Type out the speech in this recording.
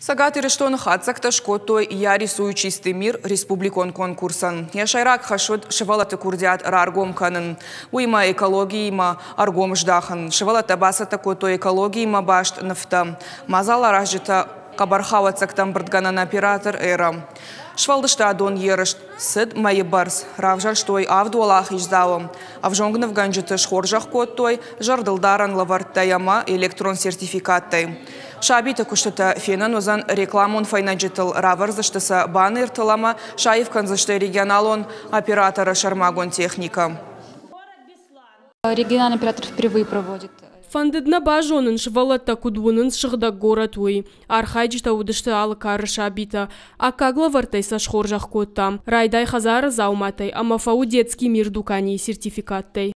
Цӕгат Ирыстоны хатдзӕгтӕ скодтой «Я рисую чистый мир» республикон конкурсӕн. Йӕ сӕйраг хӕс уыд сывӕллӕтты курдиат раргом кӕнын. Уыимӕ экологиимӕ ӕргом здахын. Сывӕллӕттӕ бацӕттӕ кодтой экологиимӕ баст нывтӕ. Мадзал аразджытӕ хъӕбӕрхауӕццӕгтӕ ӕмбырдгӕнӕн оператор «Эра». Сфӕлдыстадон ерыс цыд мӕйы бӕрц. Равзӕрстой авд уӕлахиздзауы. Ӕвзонг нывгӕнджыты схорзӕх кодтой зӕрдылдарӕн лӕвӕрттӕй ӕмӕ электрон сертификаттӕй. Сабиты куыстытӕ фенӕн уыдзӕн рекламон фӕйнӕджытыл, равӕрдзысты сӕ баннертыл ӕмӕ саив кӕндзысты регионалон операторы сӕрмагонд техникӕ. Региональный оператор впервые проводит. Фӕндыд нӕ базонын, сывӕллӕттӕ куыд уынынц сыгъдӕг горӕт, уый. Архайджытӕ уыдысты алы кары сабитӕ. Аккаг лӕвӕрттӕй сӕ схорзӕх кодтам. Райдай хӕдзары дзауматӕй ӕмӕ фӕуы «Детский мир» дуканийы сертификаттӕй.